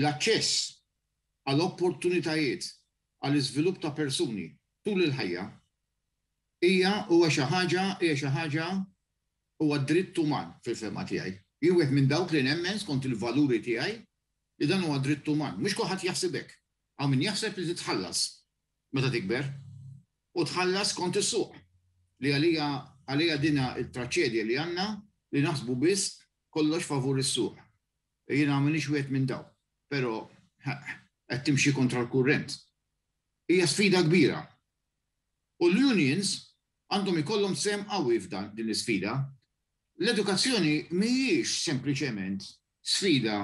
L-aċċess għal opportunitajiet għall-iżvilupp ta' persuni tul il-ħajja hija huwa xi ħaġa hija xi ħaġa huwa dritt uman fil-fehma tiegħi. Jien wieħed minn dawk li nemmen skont il-valuri tiegħi li dan huwa dritt uman. Mhux kulħadd jaħseb hekk. Hawn min jaħseb li titħallas meta tikber u tħallas skont is-suq li għalija għalija dina t-traċedja li għandna li naħsbu biss kollox favur is-suq. Jiena m'iniex wieħed minn dawk, però qed timxi kontra l-kurrent. Hija sfida kbira. U l-unions għandhom ikollhom sehem qawwi f'dan din l-isfida. L-edukazzjoni mhijiex sempliċement sfida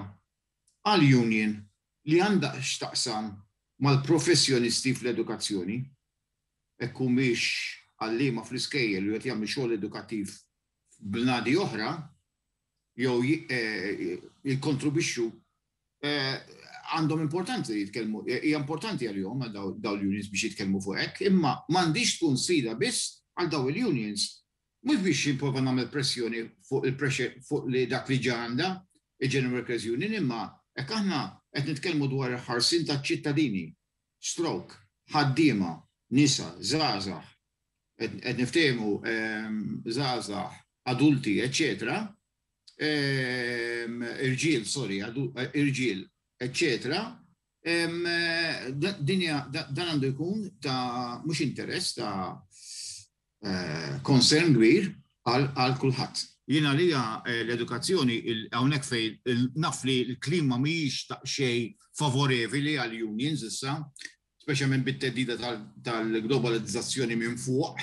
għal union li għandha x'taqsam mal-professjonisti fl-edukazzjoni, hekk humiex għalliema fl-iskejjel u qed jagħmlu xogħol edukattiv f'bnadi oħra jew jikkontribwixxu għandhom importanti li jitkellmu, hija importanti għalihom għal dawn l-unions biex jitkellmu fuq hekk, imma m'għandhiex tkun sfida biss għal dawn il-unions. Mhux biex nipprova nagħmel pressjoni fuq il-pressure fuq li dak li ġa għandha il-General Workers Union imma hekk aħna qed nitkellmu dwar il-ħarsien taċ-ċittadini, stroke, ħaddiema, nisa, żgħażagħ, qed niftehmu żgħażagħ, adulti, eċċetera, irġiel, sorry, irġiel, eċċetera, din dan għandu jkun ta' mhux interess ta' concern kbir għal kulħadd. Jien għalija l-edukazzjoni hawnhekk fejn naf li l-klima mhijiex daqsxejn favorevoli għal unions issa, speċjalment bit-theddida tal-globalizzazzjoni minn fuq,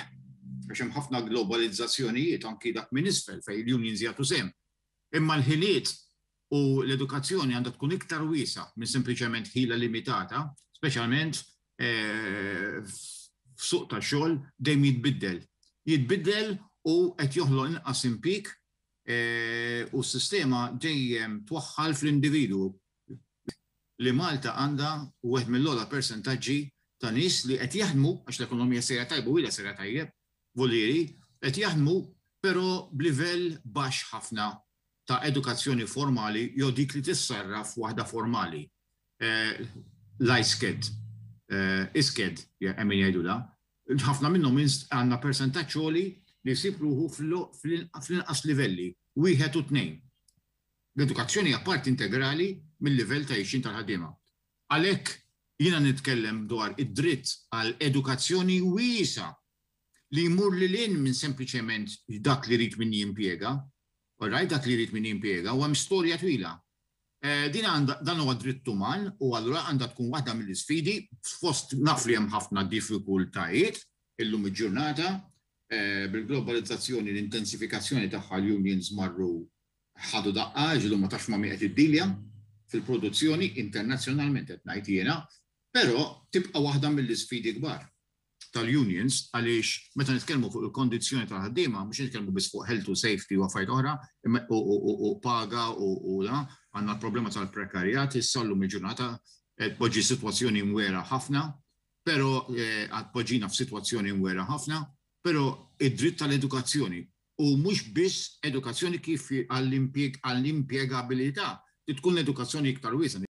għax hemm ħafna globalizzazzjonijiet anki dak minn isfel fejn l-unions jagħtu sehem. Imma l-ħiliet u l-edukazzjoni għandha tkun iktar wiesgħa minn sempliċement ħila limitata, speċjalment f'suq tax-xogħol dejjem jitbiddel. Jitbiddel u qed joħloq inqas impjieg u s-sistema dejjem twaħħal fl-individwu. Li Malta għandha wieħed mill-ogħla persentaġġi ta' nies li qed jaħdmu, għax l-ekonomija sejra tajba u ilha sejra tajjeb, volieri, qed jaħdmu però b'livell baxx ħafna ta' edukazzjoni formali jew dik li tissarraf f'waħda formali. L-ISCED, ISCED hemm min jgħidulha, ħafna minnhom għandna persentaġġ għoli li jsib ruħu fl-inqas livelli, wieħed u tnejn. L-edukazzjoni hija parti integrali mil-livell ta' għixien tal-ħaddiema. Għalhekk jiena nitkellem dwar id-dritt għal edukazzjoni wiesgħa li jmur lil hinn minn sempliċement dak li jrid min jimpjega, all right, dak li jrid min jimpjega u hemm storja twila. Din għandha, dan huwa dritt uman u allura għandha tkun waħda mill-isfidi fost naf li hemm ħafna diffikultajiet illum il-ġurnata bil-globalizzazzjoni, l-intensifikazzjoni tagħha l-unions marru ħadu daqqa għax illum ma tafx ma' min qed iddilja fil-produzzjoni internazzjonalment qed ngħid jiena, però tibqa' waħda mill-isfidi kbar tal-unions għaliex meta nitkellmu fuq il-kondizzjoni tal-ħaddiema mhux nitkellmu biss fuq health u safety u affarijiet oħra u paga u da, għandna l-problema tal-prekarjat issa llum il-ġurnata tpoġġi sitwazzjoni mwera ħafna, però tpoġġina f'sitwazzjoni mwera ħafna, però id-dritt tal-edukazzjoni u mhux biss edukazzjoni kif għall-impjegabilità, trid tkun edukazzjoni iktar wiesgħa.